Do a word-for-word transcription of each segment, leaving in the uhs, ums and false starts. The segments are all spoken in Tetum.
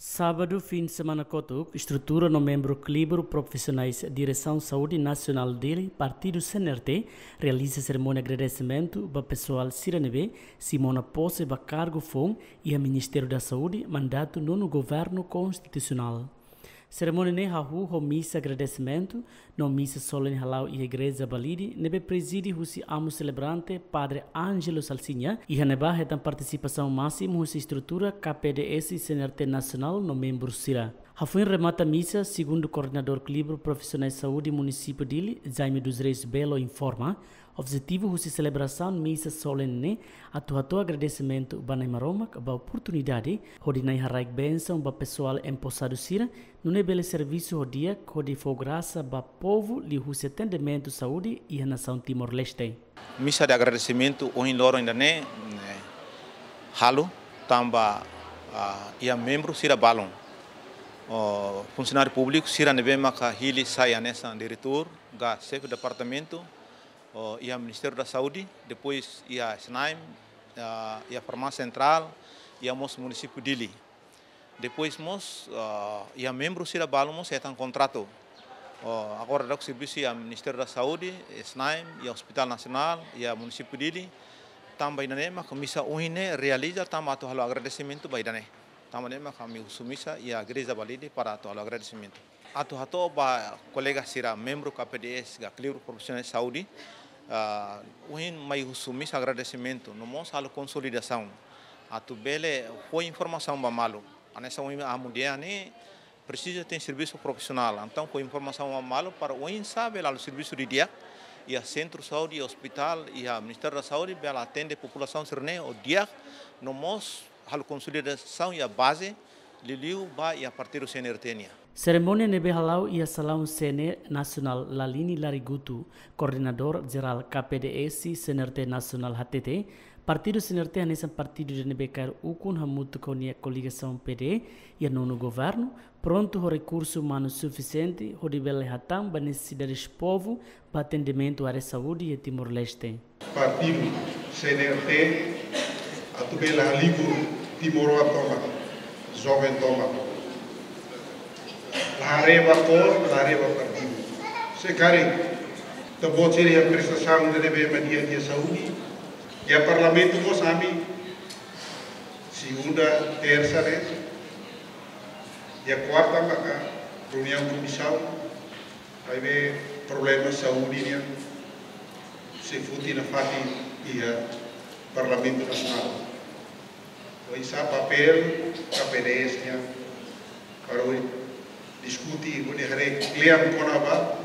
Sábadu, fim de semana kotuk, estrutura no membru klibru profisionais Diresaun Saúde Nasionál Dili, Partidu C N R T, realiza serimónia agradesimentu ba pesoál sira ne'ebé simu ona pose ba kargu foun iha Ministériu da Saúde, mandatu nonu governu konstitusionál. Serimónia ne'e hahú ho misa agradesimentu, no misa solene hala'o iha Igreja Balide, ne'ebé prezide husi amu selebrante Padre Ângelo Salsinha, iha ne'ebá hetan partisipasaun másimu husi estrutura K P D S C N R T Nasionál no membru sira. Hafoin remata misa, segundu koordenadór klibru profisionais saúde munisípiu Dili, Jaime dos Reis Belo informa, objetivu husi selebrasaun misa solene ne'e atu hato'o agradesimentu ba Na'i Maromak ba oportunidade hodi Na'i haraik bensaun ba pesoál emposadu sira, nune'e bele servisu ho di'ak hodi fó grasa ba povu liuhusi atendimentu saúde iha nasaun Timor-Leste. Misa de agradesimentu ohin loron ida-ne'e, eh, halo tanba, ah, iha membru sira balun. Oh, funsionáriu públiku sira ne'ebé maka hili sai hanesan diretór, ka xefe departamentu, oh, iha Ministériu da Saúde, depois iha SNAEM, ah, iha Farmásia Sentrál, iha mós munisípiu Dili. Depois mós, ah, iha membru sira balun mós hetan kontratu. Oh, agora daudaun servisu iha Ministériu da Saúde, SNAEM, iha Hospital Nasionál, iha munisípiu Dili. Tanba ida-ne'e maka misa ohin ne'e realiza tanba atu halo agradesimentu ba ida-ne'e. Tanba ne'e maka ami husu misa iha Igreja Balide para atu halo agradesimentu. Atu hato'o ba kolega sira membru K P D S ka klibru profisionais saúde, ah, ohin mai husu misa agradesimentu, no mós halo konsolidasaun. Atu bele fó informasaun ba malu. Hanesan ohin amu dehan ne'e presiza iha servisu profisionál. Entaun fó informasaun ba malu para oinsá bele halo servisu didi'ak iha sentru saúde, iha ospitál, iha Ministériu da Saúde, bele atende populasaun sira-ne'e ho di'ak, no mós halo konsolidasaun iha baze, liuliu ba iha partidu C N R T nian. Serimónia ne'ebé hala'o iha salaun C N E Nasionál Lalini Larigutu, koordenadór jerál K P D S C N R T Nasionál hatete, partidu C N R T hanesan partidu ida ne'ebé kaer ukun hamutuk ho nia koligasaun P D iha nonu governu, prontu ho rekursu umanu sufisiente hodi bele hatán ba nesesidades povu ba atendimentu área saúde iha Timor-Leste. Partidu C N R T atu bele halibur timoroan tomak, joven tomak. La haree ba kór, la haree ba partidu. Se karik ita-boot sira iha prestasaun ida ne'ebé mak di'ak iha saúde, iha Parlamentu mós ami, segunda, tersa, ne'e, iha kuarta maka reuniaun komisaun, maibé problema saúde nian sei foti nafatin iha Parlamentu Nasionál. Oinsá papél K P D S nian para ohin diskute, hodi haree kle'an kona-ba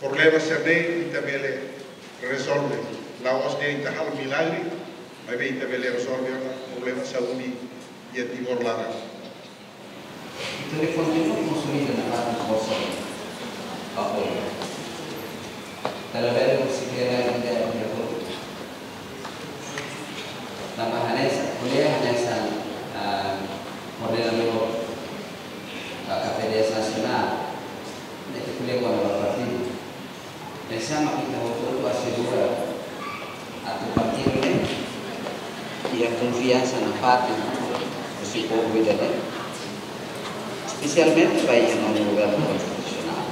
problema sira-ne'e ita bele rezolve. La'ós dehan ita halo milagre, maibé ita bele rezolve ona problema saúde iha Timor laran. Ita bele kontinua konsolida nafatin forsa ba povu. Ita labele husi kle'an ita iha povu. Tanba hanesan, ko'alia hanesan, ah, koordenadór, ah, K P D S Nasionál, ne'e ita ko'alia kona-ba partidu. Oinsá mak ita hotu-hotu asegura atu partidu ne'e iha konfiansa nafatin husi povu ida-ne'e, espesialmente ba iha nonu governu konstitusionál.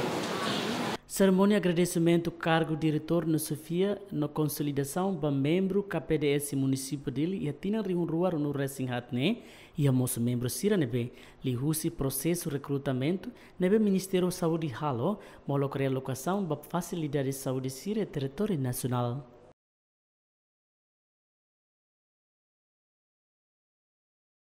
Serimónia agradesimentu kargu diretór no xefia no konsolidasaun ba membru K P D S munisípiu Dili iha tinan rihun rua ruanulu-resin-haat ne'e, iha mós membru sira ne'ebé liuhusi prosesu rekrutamentu ne'ebé Ministériu Saúde halo, molok realokasaun ba fasilidade saúde sira iha territóriu nasionál.